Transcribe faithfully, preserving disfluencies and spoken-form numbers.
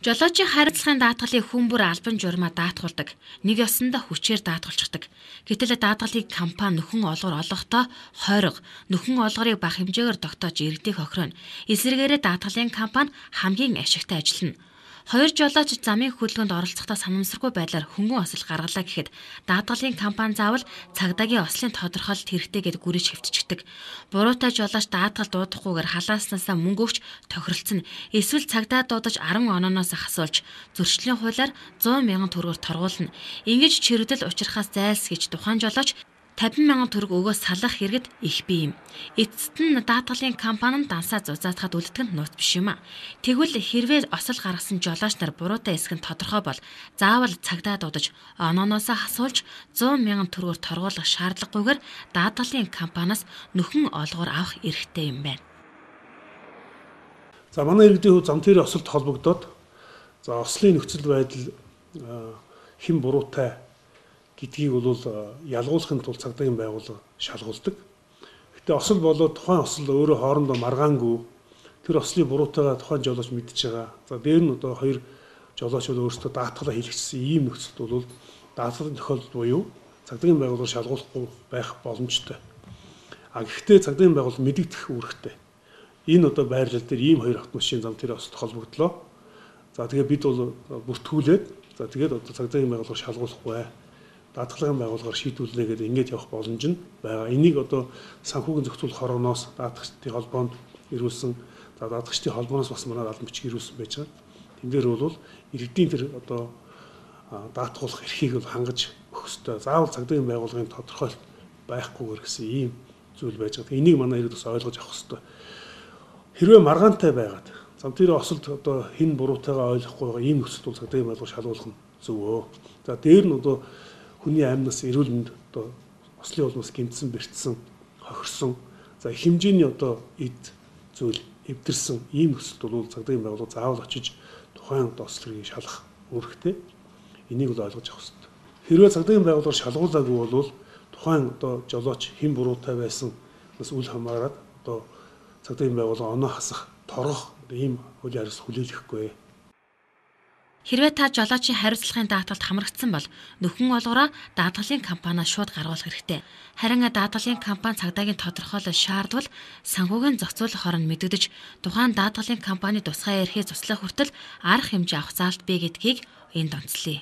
Жолоочийн хариуцлагын даатгалыг хүн бүр албан журмаа даатгуулдаг. Нэг ёсондоо хүчээр даатгалчихдаг. Гэтэл даатгалыг компани нөхөн олгор олгохдоо хойрог, нөхөн олгорыг бага хэмжээгээр тогтоож иргэдийг хохироно. Эсвэргээрээ даатгалын компани хамгийн ашигтай ажиллана. Хоёр жолооч замын хөдөлгөөнд оролцохдоо санамсаргүй байдлаар хөнгөн осол гаргалаа гэхэд даатгалын компани заавал цагдаагийн ослын тодорхойлолт хэрэгтэй гэд гүрэж хэвтчихдэг. Буруутай жолооч даатгал дуудахгүйгээр халааснасаа мөнгө өгч тохиролцсон. Эсвэл цагдаа дуудаж арван онооноос хасуулж зөрчлийн хуулиар зуун мянган төгрөгөөр торгуулна. Ингэж чирэгдэл учрахаас зайлсхийж тухайн жолооч тавин мянган төгрөг өгөө салах хэрэгэд их бий юм. Эцэст нь даатгалын компани дансаа зузаатахад үлддэг нь нууц биш юм а. Тэгвэл хэрвээ осол гаргасан жолооч нар буруутай эсэх нь тодорхой бол заавал цагдаа дуудаж онооноосоо хасуулж зуун мянган төгрөгөөр торгуулах шаардлагагүйгээр даатгалын компаниас нөхөн олгоор авах эрхтэй юм байна. За манай иргэдийн хувьд зам тээврийн осолд холбогдоод за ослын нөхцөл байдал хэн буруутай гэдгийг бол ялгуулахын тулд цагдаагийн байгууллага шалгуулдаг. Гэтэ осол болоод тухайн осол өөрөө хоорондоо маргаангүй тэр ослын буруутайгаа тухайн жолооч мэдж байгаа. За дээр нь одоо хоёр жолоочууд өөрсдөө даатгалаа хийлгэсэн ийм нөхцөлд бол даатгалын тохиолдол буюу цагдаагийн байгууллага шалгуулахгүй байх боломжтой. А гэхдээ цагдаагийн байгууллага мэдэгдэх үүрэгтэй. Энэ одоо байрлал дээр ийм хоёр автомашин зам тээврийн осолд холбогдлоо. За тэгээ бид бол бүртгүүлээд за тэгээд одоо цагдаагийн байгууллага шалгуулахгүй даатгалын байгууллагаар шийдвэрлэнэ гэдэг ингэж явах боломж нь байгаа. Энийг одоо санхүүгийн зохицуулах хорооноос даатгчдын холбоонд ирүүлсэн, за даатгчдын холбооноос бас манай албан бичиг ирүүлсэн байж байгаа. Тэн дээр бол иргэдийн тэр одоо даатгуулах эрхийг бол хангаж өгөх ёстой. Заавал цагдаагийн байгууллагын тодорхойлолт байхгүйгээр гэсэн ийм зүйл байж байгаа. Энийг манай иргэд бас ойлгож авах ёстой. Хэрвээ маргаантай байгаад зам тээврийн осолд одоо хэн буруутайгаа ойлгохгүй байгаа ийм нөхцөлд бол цагдаагийн байгууллага шалгуулах нь зөвөө. За дээр нь одоо хүний аймнаас эрүүл мэнд одоо ослын улмаас гэмтсэн, бэртсэн, хохирсон, за хэмжээний одоо эд зүйл эвдэрсэн ийм нөхцөлд бол цагдаагийн байгууллага заавал очиж тухайн ослыг шалгах үүрэгтэй. Энийг бол ойлгож авах хэрэгтэй. Хэрвээ цагдаагийн байгууллага шалгуулаагүй бол тухайн одоо жолооч хэн буруутай байсан бас үл хамааран одоо цагдаагийн байгууллага оноо хасах, торгох ийм хуулийн хариуцлага хүлээлгэхгүй. Хэрвээ та жолоочийн хариуцлагын даатгалд хамрагдсан бол нөхөн олгороо даатгалын компаниас шууд гаргуулах хэрэгтэй. Харин даатгалын компани цагдаагийн тодорхойлол шаардвал санхүүгийн зохицуулах хорон мэдэгдэж тухайн даатгалын компани тусгай эрхээ туслах хүртэл арга хэмжээ авах заалт бий гэдгийг энд онцлоё.